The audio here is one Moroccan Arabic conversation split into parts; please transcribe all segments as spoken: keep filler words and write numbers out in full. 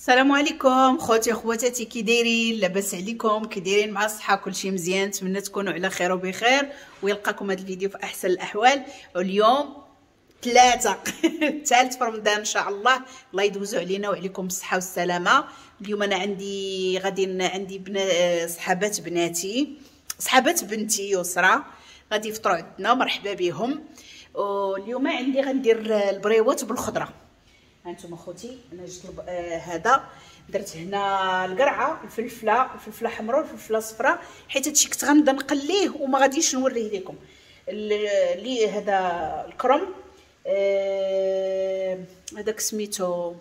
السلام عليكم خوتي خواتاتي، كي دايرين؟ لاباس عليكم؟ كي دايرين مع الصحة؟ كلشي مزيان؟ نتمنى تكونوا على خير وبخير ويلقاكم هذا الفيديو في احسن الاحوال. اليوم ثلاثة الثالث في رمضان ان شاء الله، الله يدوزو علينا وعليكم بالصحة والسلامة. اليوم انا عندي غادي عندي بنا صحابات بناتي، صحابات بنتي يسرى غادي يفطروا عندنا، مرحبا بهم. واليوم عندي غندير البريوات بالخضره. هانتوما خوتي انا جبت الب... آه هذا درت هنا القرعة، الفلفله، الفلفله حمراء والفلفله صفراء، حيت هادشي كنت غنبدا نقليه وما غاديش نوريه لكم. اللي هذا الكرم، آه هذاك سميتو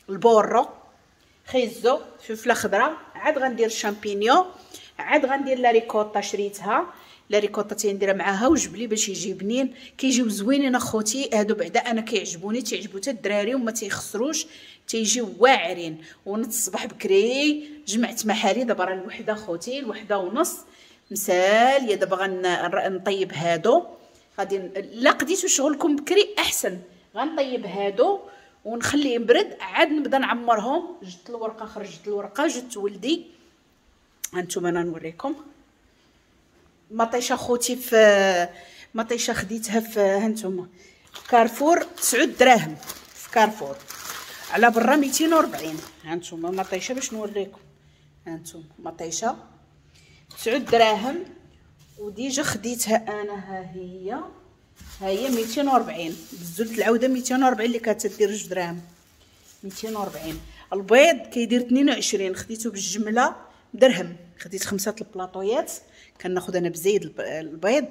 البورو، خيزو، فلفله خضراء، عاد غندير الشامبينيون، عاد غندير la ricotta شريتها، la ricotta تنديرها معاها وجبلي باش يجي بنين. كيجيو زوينين اخوتي هادو، بعدا انا كيعجبوني، تيعجبو حتى الدراري وما تيخسروش، تيجيو واعرين. ونط الصباح بكري جمعت محالي، دابا راه الوحدة خوتي، الوحدة ونص مساليه. دابا غنطيب هادو، غادي لا قديتو شغلكم بكري احسن، غنطيب هادو ونخليه يبرد عاد نبدا نعمرهم. جبت الورقة، خرجت الورقة، جبت ولدي. هانتوما انا نوريكم مطيشه خوتي، في مطيشه خديتها في هانتوما كارفور تسعة دراهم في كارفور، على برا ميتين وربعين. هانتوما مطيشه باش نوريكم، هانتوما مطيشه تسعة دراهم و déjà خديتها انا، ها هي ها هي ميتين وربعين بزلت العودة ميتين وربعين اللي كتدير جوج دراهم ميتين وربعين. البيض كيدير اثنين وعشرين، خديته بالجملة درهم، خديت خمسة البلاطويات كناخذ انا بزايد البيض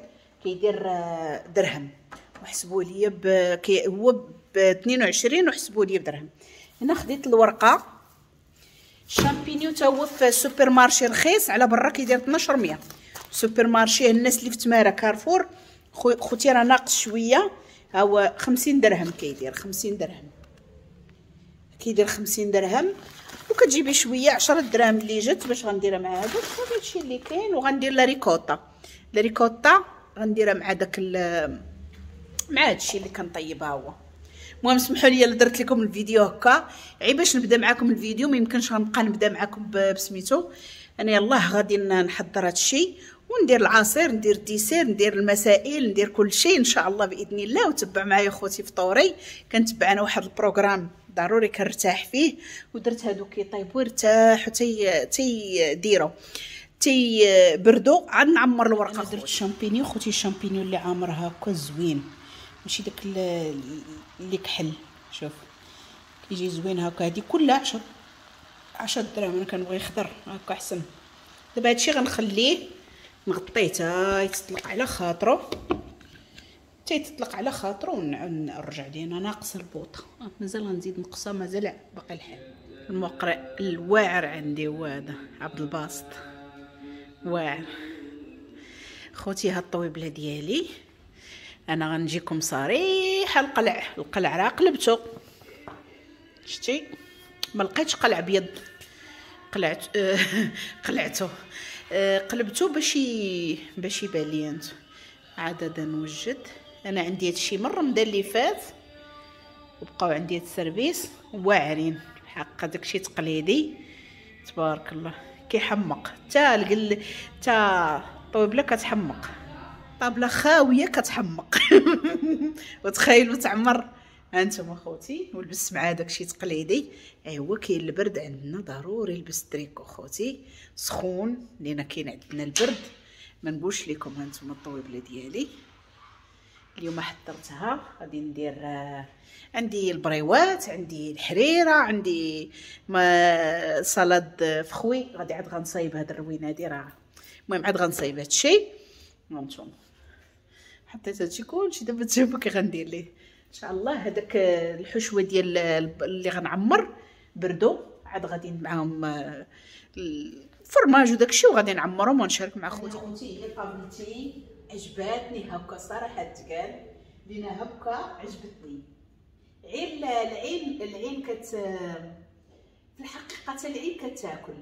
كيدير درهم، وحسبوا لي ب... كي هو ب اثنين وعشرين وحسبوا لي بدرهم. هنا خديت الورقة. الشامبينيو تا هو في supermarché رخيص، على برا كيدير اثناش مية. supermarché الناس اللي في تماره كارفور خوتي راه ناقص شوية، ها هو خمسين درهم كيدير، خمسين درهم كيدير خمسين درهم، وكتجيبي شوية عشرة دراهم اللي جات باش غنديرها مع هذا. صافي هادشي اللي كاين. وغندير la ricotta، la ricotta غنديرها مع داك مع هادشي اللي كنطيبها هو. المهم سمحوا لي الا درت لكم الفيديو هكا، عي باش نبدا معكم الفيديو، ما يمكنش غنبقى نبدا معكم بسميتو. انا يلاه غادي نحضر هادشي وندير العصير، ندير ال dessert، ندير المسائل، ندير كل شيء ان شاء الله باذن الله. وتبع معايا خوتي فطوري، كنتبع انا واحد ال programme ضروري كنرتاح فيه، ودرت هادو كيطيبوا يرتاحوا تي تيديروا تيبردوا عاد نعمر الورقة. درت الشامبينيو خوتي، الشامبينيو اللي عامر هكا زوين، ماشي داك اللي كحل، شوف كيجي زوين هكا. هادي كلها عشرة عشرة دراهم، انا كنبغي خضر هكا احسن. دابا هادشي غنخليه نغطيه تا يتطلق على خاطرو، حتى يتطلق على خاطرو ونرجع لينا. ناقص البوطه مازال غنزيد نقصها، مازال باقي الحال. المقرئ الواعر عندي هو هذا عبد الباسط، واعر خوتي. هاد الطويبله ديالي انا غنجيكم صريحه، القلع القلع راه قلبته، شتي ما لقيتش قلع ابيض، قلعت قلعته قلبته باش باش يبان لي. انت عاد نوجد انا عندي هادشي من رمضان اللي فات، وبقاو عندي هاد ال service واعرين حق، داكشي تقليدي تبارك الله كيحمق. حتى القل حتى الطويبله كتحمق، طابله خاوية كتحمق وتخيلوا تعمر. هانتوما خوتي ولبست مع داكشي تقليدي. ايوا كاين البرد عندنا، ضروري لبس تريكو خوتي سخون، لينا كاين عندنا البرد ما نقولش لكم. هانتوما الطويبله ديالي اليوم حضرتها، غادي ندير عندي البريوات، عندي الحريره، عندي ما salade fruits، غادي عاد غنصايب هاد الروينه هادي راه. المهم عاد غنصايب هادشي. هانتوما حطيت هادشي كلشي، دابا تشوفوا كي غندير ليه ان شاء الله. هذاك الحشوه ديال اللي غنعمر بردو، عاد غادي معاهم الفرماج وداكشي، وغادي نعمرهم ونشارك مع خوتي. خوتي هي طابلتي عجباتني هكا صراحة، تقال لينا هكا عجبتني. غير العين العين كت في الحقيقة حتى العين كتاكل.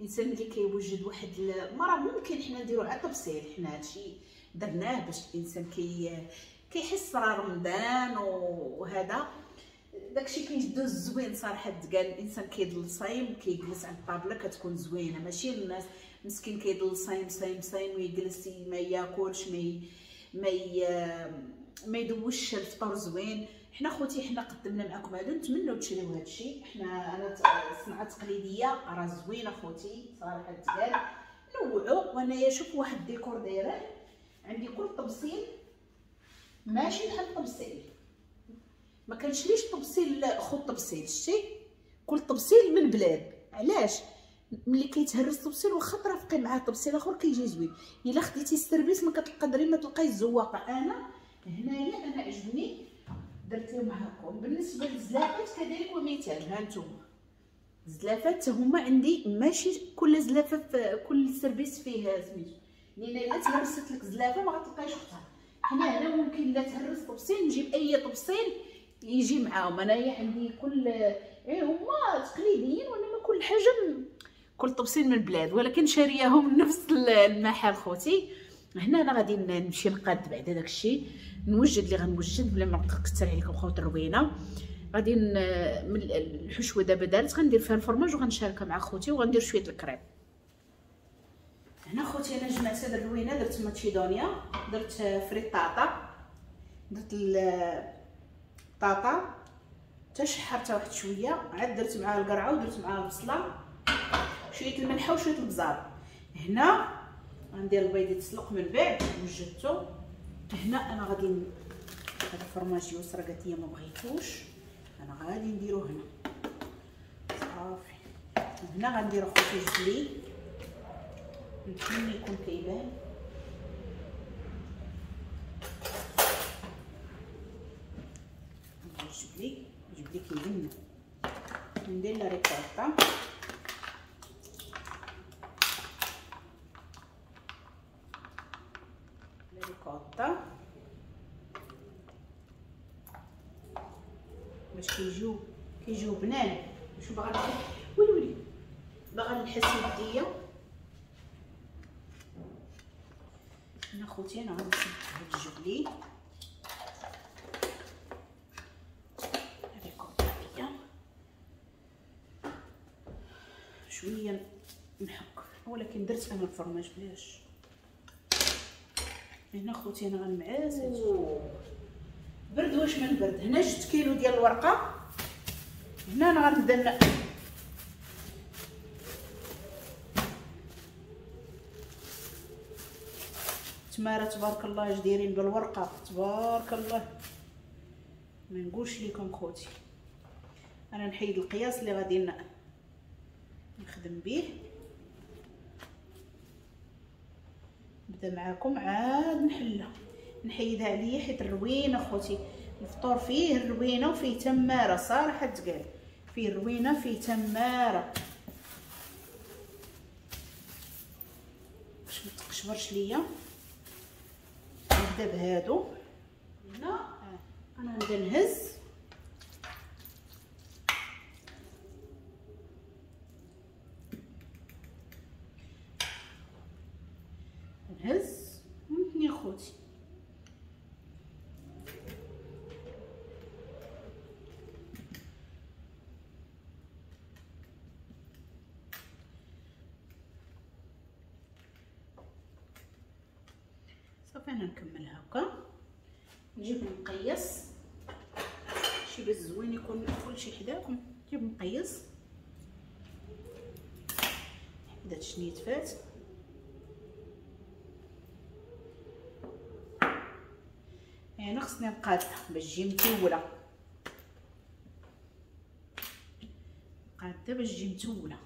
الانسان ملي كيوجد واحد المرة ممكن حنا نديرو على طبسيل، حنا هادشي درناه باش الانسان كي كيحس راه رمضان وهذا. داكشي كيدوز زوين صراحة. تقال الانسان كيضل صايم كيجلس على الطابله كتكون زوينة، ماشي الناس مسكين كيضل صايم صايم صايم ويجلس ما ياكلش ما ما ما يدوش الفطور زوين. حنا خوتي حنا قدمنا معكم هادو، نتمنوا تشريو هادشي. حنا انا صنعه تقليدية راه زوينة خوتي صراحة تقال، نوعوا. وانايا شوف واحد الديكور دايرة عندي، كل طبسيل ماشي بحال الطبسيل، ما كنشريش طبسيل خو طبسيل، شتي كل طبسيل من بلاد. علاش؟ ملي كيتهرس طبسيل واخا ترافقي معاه طبسيل اخر كيجي زوين. الا خديتي ال service ما كتقدري ما تلقاي الزواقه. انا هنايا انا عجبني درت لهم هاكم. بالنسبة للزلافات كذلك ومثال، ها نتوما الزلافات هما عندي ماشي كل زلافه في كل service فيه سميتو، لان الا تهرست لك زلافه ما غتلقايش اختها. حنا هنا ممكن لا تهرس طبسيل نجيب اي طبسيل يجي معاهم. انايا عندي كل اي هما تقليديين وانما كل حاجة كل طبسيل من بلاد، ولكن شارياهم من نفس المحل خوتي. هنا انا غادي نمشي نقاد بعدا داكشي، نوجد اللي غنوجد بلا ما نكثر عليكم خوت الروينه. غادي من الحشوه دابا دارت غندير فيها الفرماج وغنشاركها مع خوتي، وغندير شوية الكريم. هنا خوتي انا جمعت هاد الروينه، درت macedonia، درت frittata، درت الطاطا حتى شحرتها واحد شوية، عاد درت معاها القرعة ودرت معاها البصله، شوية الملحة وشوية البزار. هنا غندير البيض يتسلق من بعد وجدته. هنا انا غادي هذا الفرماج يسرى قالت لي ما بغيتوش، انا غادي نديرو هنا صافي. هنا غندير خوتي جبلي، نتمنى يكون كيبان. ندير جبلي جبلي كيبان، ندير la ricotta. la ricotta باش كيجيو كيجيو بنان. شو باغا نحس، ويلي ويلي باغا نحس يديا. هنا خوتي انا غنصب هاد الجبلي ريكوتا هي شوية نحك، ولكن درت انا الفرماج بلاش. هنا خوتي انا غنمعس برد، واش من برد. هنا جوج كيلو ديال الورقة. هنا انا غنبدا تماره تبارك الله اش دايرين بالورقة تبارك الله، ما نقولش لكم خوتي. انا نحيد القياس اللي غادي نخدم به، نبدا معاكم عاد نحلها نحيدها عليا حيت الروينه خوتي الفطور فيه الروينه وفيه تماره صراحة تقال، فيه الروينه فيه تماره باش ما تقشبرش ليا. نبدا بهادو. هنا انا نبدا نهز نهز ونتني خوتي. صافي انا نكمل هكا، نجيب مقيس شي باش زوين يكون كلشي حداكم. نجيب مقيس حدات شنيت فات. انا خصني نقادها باش تجي متوله، نقادها باش تجي متوله.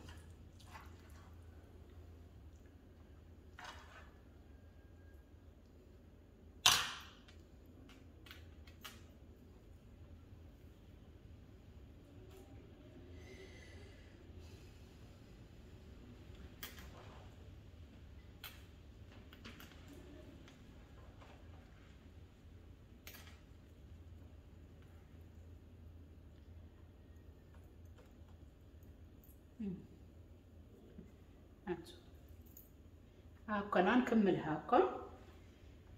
هاكا انا نكمل هاكا،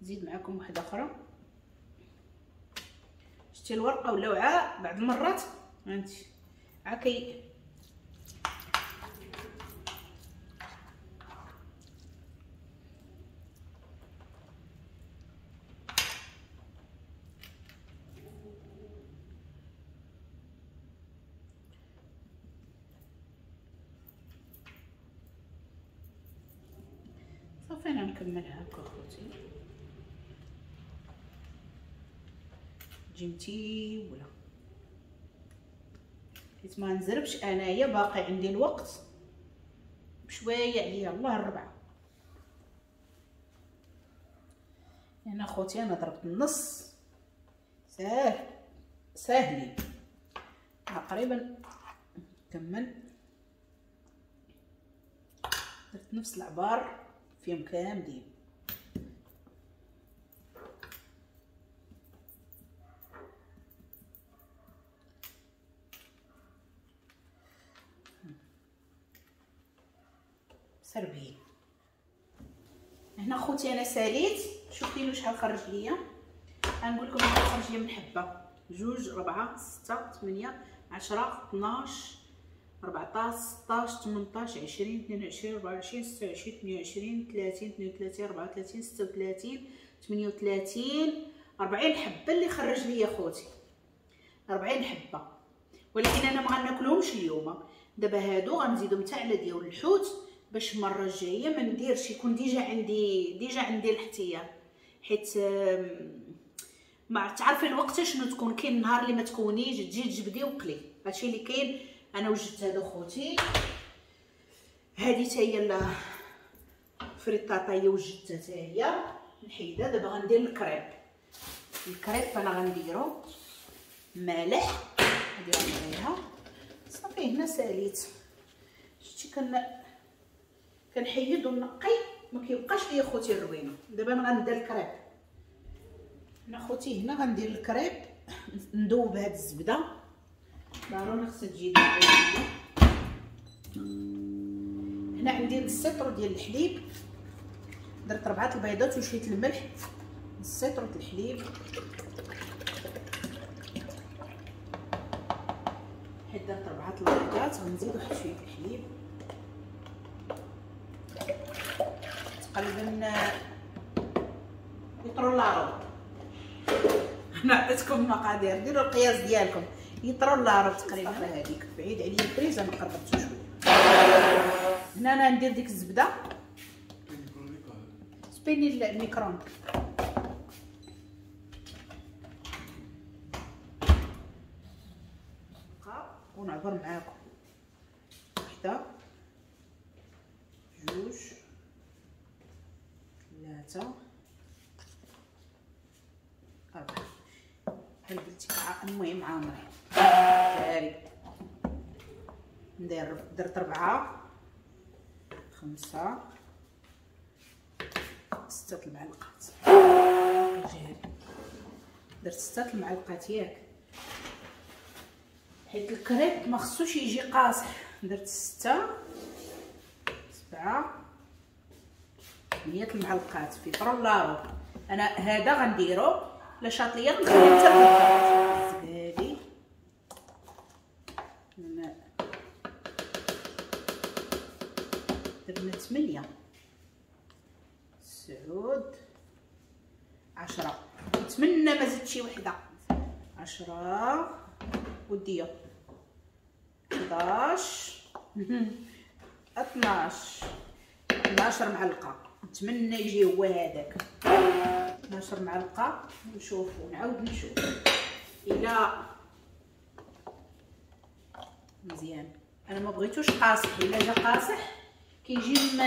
نزيد معكم واحدة اخرى. شتي شتي الورقة ولا وعاء بعض المرات هانتي عا كي صافي. انا نكملها هكا اخوتي جيمتي ولا حيت ما نزربش انايا، باقي عندي الوقت بشوية عليا الله الربعه. هنا خوتي انا ضربت النص ساهل ساهلين تقريبا. نكمل درت نفس العبار فيهم كاملين. سربين هنا خوتي انا ساليت. شوفي شحال خرج ليا، غنقول لكم شحال خرج ليا من حبه: جوج ربعة ستة ثمانية عشرة اثناش أربعطاش ستاش ثمنطاش عشرين اثنين وعشرين أربعة وعشرين ستة وعشرين ثمانية وعشرين ثلاثين اثنين وثلاثين أربعة وثلاثين ستة وثلاثين ثمانية وثلاثين أربعين حبه اللي خرج ليا خوتي، أربعين حبه. ولكن انا ما غناكلهمش اليوم. دابا هادو غنزيدهم حتى على ديال الحوت باش المرة الجاية ما نديرش، يكون déjà عندي déjà عندي الاحتياط، حيت ما تعرفي الوقت شنو تكون. كاين النهار اللي ما تكونيش تجي تجبدي وقلي، هادشي اللي كاين. انا وجدت هادو خوتي، هادي حتى هي ال frittata هي وجدتها حتى هي نحيدها. دابا غندير ال crêpe. ال crêpe انا غنديرو مالح، هادي غنديرها صافي. هنا ساليت. شتي كن كنحيد ونقي ما كيبقاش ليا خوتي الروينه. دابا انا غندير الكريب هنا خوتي. هنا غندير الكريب، ندوب هاد الزبدة ضروري خصها تجي. هنا عندي نص لتر ديال الحليب، درت ربعه البيضات وشوية الملح، نص لتر ديال الحليب حيت درت ربعه البيضات غنزيد واحد شوية الحليب تقريبا لتر لا ربع. انا عطيتكم المقادير، ديروا القياس ديالكم. لتر لا ربع تقريبا. هذيك بعيد عليا البريز انا قربته شوية. هنا انا ندير ديك الزبدة spegni ال micro-ondes. ونعبر معاكم وحده جوج ثلاثة أربعة. بحال قلتي المهم عامرين جاري. ندير درت ربعة خمسة ستة المعلقات جاري. درت ستة المعلقات ياك، حيت الكريب ما خصوش يجي قاصح. درت ستة سبعة ثمانية المعلقات في طرولارو. انا هذا غنديرو لا شاطليه غنخليه حتى الزبادي. درنا ثمانية تسعود عشرة. نتمنى ما زدت شي وحده. عشرة وديه حداش اثناش اثناش معلقه. نتمنى يجي هو هذاك اثناش معلقه. نشوفو نعاود نشوف الا مزيان. انا ما بغيتوش قاصح، الا جا قاصح كيجي م...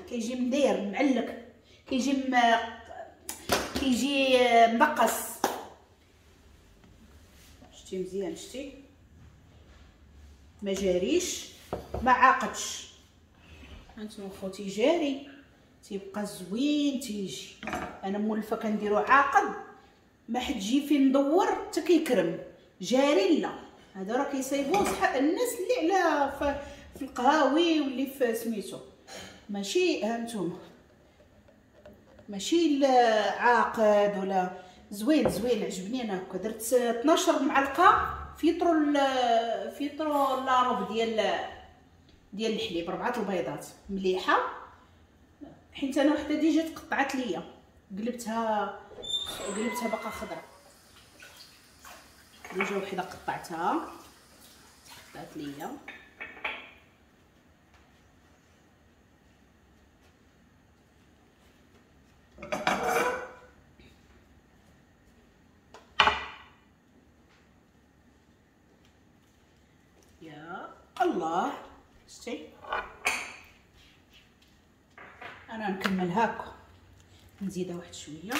كيجي مدير معلك، كيجي م... كيجي مبقص. شتي مزيان، شتي ما جاريش ما عاقدش. هانتوما خوتي جاري تيبقى زوين تيجي. انا مولفه كنديرو عاقد، ما حد جي فين ندور حتى كيكرم. جاري لا، هذا راه كيصايبوه صح الناس اللي على في القهاوي واللي في سميتو، ماشي هانتوما ماشي عاقد ولا زوين زوين عجبني انا هكا. درت اثناش معلقه فيطرو فيطرو لاروب ديال ديال الحليب، ربعه البيضات مليحة، حيت انا وحده déjà تقطعت ليا، قلبتها قلبتها باقا خضرا، déjà وحده قطعتها تقطعت ليا. يا الله شتي انا نكمل هاكا، نزيدها واحد شوية.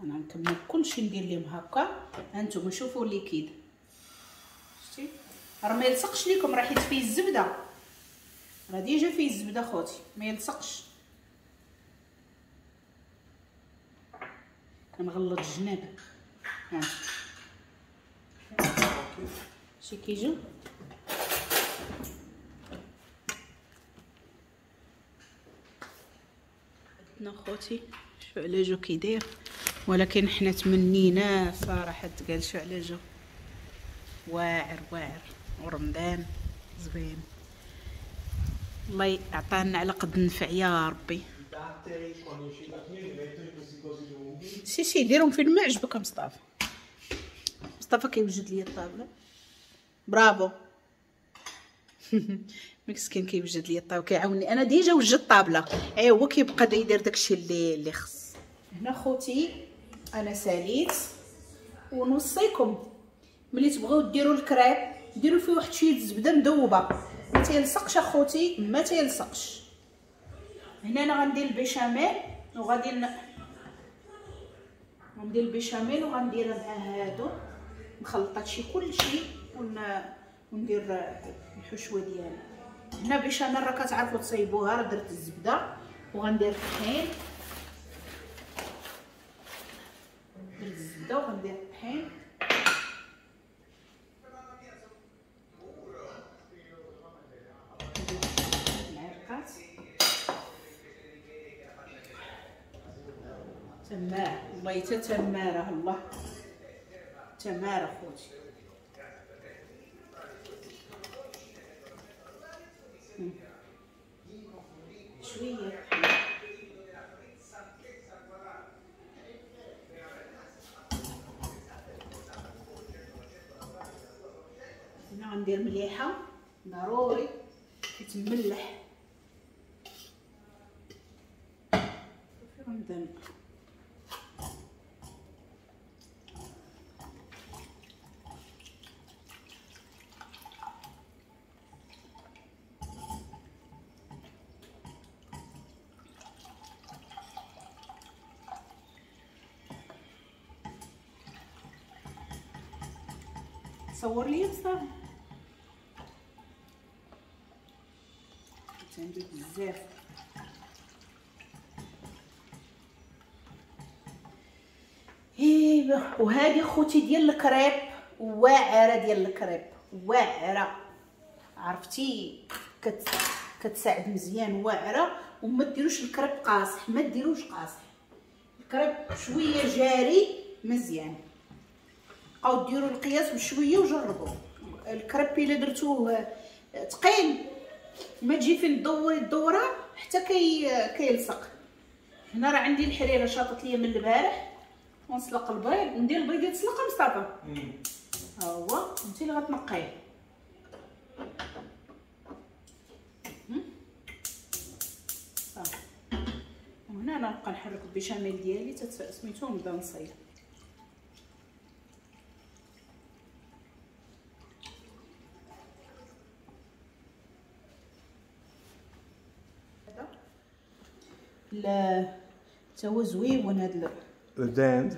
انا نكمل كلشي ندير لهم هكا. هانتوما شوفوا liquide شتي راه ما يلصقش ليكم، راه حيت فيه الزبدة، راه déjà فيه الزبدة خوتي، ما يلصقش. كنغلط الجناب ها شي كيجيو. عندنا خوتي شو على جو كيداير، ولكن حنا تمنينا صراحة تقال شو على جو واعر واعر، ورمضان زوين، الله يعطانا على قد النفع يا ربي. sì sì ديرهم فين ما عجبك مصطفى. مصطفى كيوجد لي الطابله، برافو مسكين كيوجد لي الطابله كيعاوني انا، déjà وجدت الطابله، اي هو كيبقى يدير داكشي اللي اللي خص. هنا خوتي انا ساليت، ونوصيكم ملي تبغيو ديروا الكريب ديروا فيه واحد شوية الزبدة مذوبه، ما تيلصقش اخوتي، ما تيلصقش. هنا انا غندير البيشاميل وغادي ن... غندير البيشاميل وغنديرها مع هادو، نخلط هادشي كلشي ون... وندير الحشوه ديالي. هنا بيشاميل راه كتعرفوا تصايبوها، راه درت الزبدة وغندير الطحين، درت الزبدة وغندير الطحين. معلقات تماره، والله حتى تماره، الله تماره خوتي. شوية هنا غندير مليحة ضروري حيت مملح في رمضان. صور لي مصطفى، عندي بزاف. ايوا وهذه خوتي ديال الكريب، واعرة ديال الكريب واعرة، عرفتي كت كتساعد مزيان واعرة. وما ديروش الكريب قاصح، ما ديروش قاصح، الكريب شوية جاري مزيان، بقاو ديروا القياس بشوية وجربوا. الكريب الا درتوه ثقيل ما تجي فين تدوري الدورة حتى كي كيلصق. هنا راه عندي الحريره شاطت ليا من البارح، ونسلق البيض، ندير البيض يتسلق مصطفى، ها هو انت اللي غتنقيه. صافي وهنا انا نبقى نحرك البيشاميل ديالي حتى سميتو نبدا نصايب. لا تا هو زويون هاد ال dinde.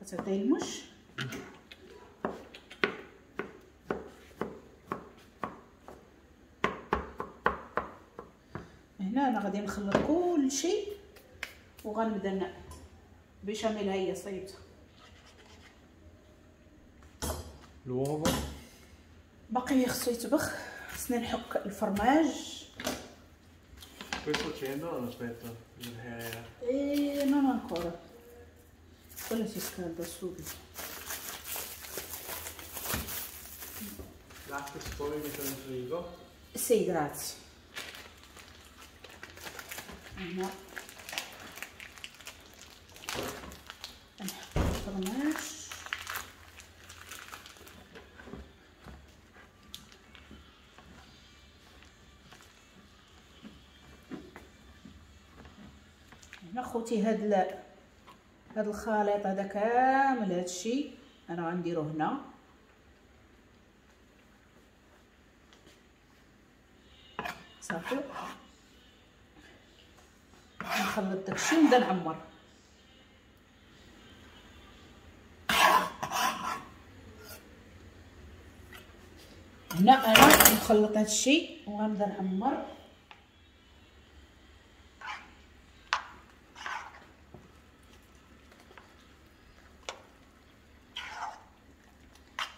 غتعطيه المش. هنا انا غادي نخلط كلشي وغنبدا بيشاميل. ها هي صايبتها. L'uovo. باقي خصو يطبخ، خصنا نحك الفرماج. Questo accendo o aspetto? Eh, non ancora. Quello si scalda subito. Latte si può mettere in frigo? Sì, grazie. هنا نحط الفرماج. هنا خوتي هاد ال... هاد الخليط هذا كامل هادشي انا غنديرو هنا. صافي نخلط داكشي ونبدا نعمر. هنا انا نخلط هادشي وغنبدا نعمر.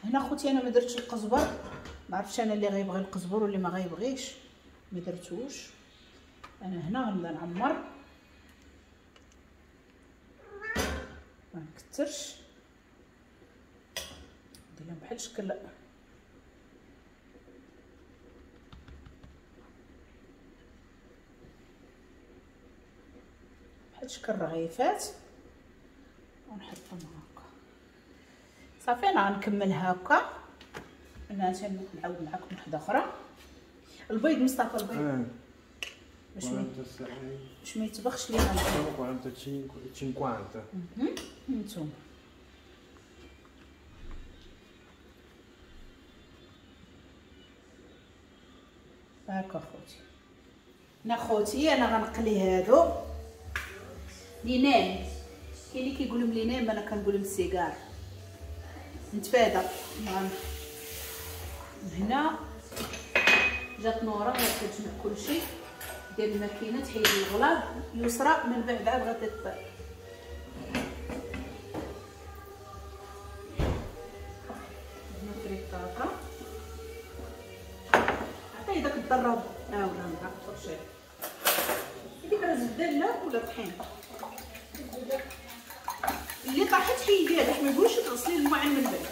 هنا خوتي انا ما درتش القزبر، ما عرفتش انا اللي غيبغي القزبر واللي ما غيبغيش، ما درتوش. انا هنا غنبدا نعمر، ما نكثرش، ندير لهم بحال شكل بحال شكل رغيفات ونحطهم هكا. صافي انا غنكمل هكا. انا نعاود معكم وحده اخرى. البيض مصطفى، البيض باش ما باش ما يطبخش لينا. quarantacinque cinquanta. نتوما هاكا خوتي. انا خوتي انا غنقلي هادو les nems، كاين اللي كيقولوا les nems، انا كنقول لهم السيجار. نتفادى. هنا جات نوره كتجمع كلشي، دير الماكينة تحيد الغلاظ يسرى، من بعد عاد غادي تطيب. هنا frittata، عطية داك الضرب. اه ولا مع الفرشيط هذيك راه زبدة لا ولا طحين اللي طاحت حيديها باش ما يقولش تغسلي الماعن من بعد.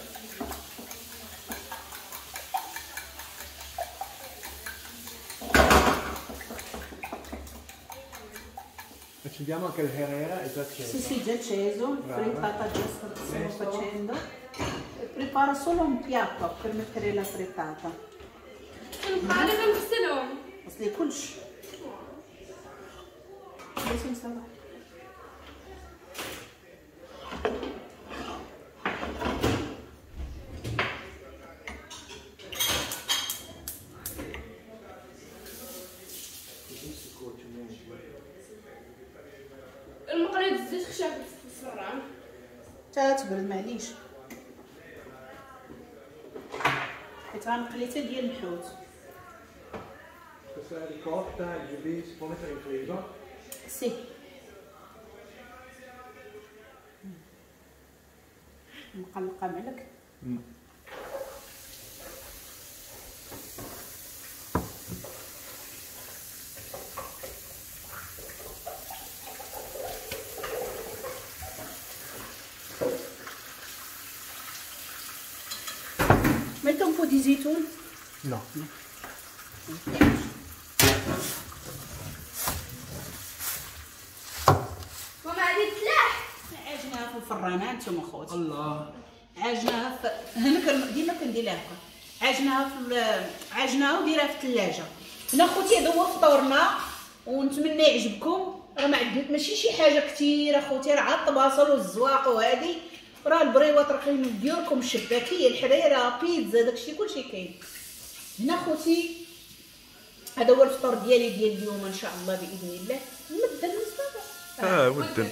Accendiamo anche il Herrera, è già acceso. Sì, sì, già acceso, il frittata già stiamo facendo. Preparo solo un piatto per mettere la frittata. انا كنغسلهم. غسلي كلشي. بس مصطفى. المقلة الزيت خشب في الفران. تا تبرد معليش، حيت غنقلي حتى ديال الحوت. Questa ricotta, il giubì, si può mettere in frigo? Sì. مقلقة معلك. Metto un po' di زيتون? No. ماما غادي تلاح. عجناها في الفران انتم اخوتي. الله. عجناها في انا ديما كندير لها هكا، عجناها في عجناها وديرها في الثلاجة. هنا خوتي هذا هو فطورنا ونتمنى يعجبكم. راه ما عندنا ماشي شي حاجة كثيرة خوتي، راه عاد الطباصل والزواق وهادي، راه البريوات راه كاين ديالكم، الشباكيه، الحريره، بيتزا، داكشي كلشي كاين. هنا خوتي هذا هو الفطور ديالي ديال اليوم ان شاء الله باذن الله. مدن مصطفى. اه ودن.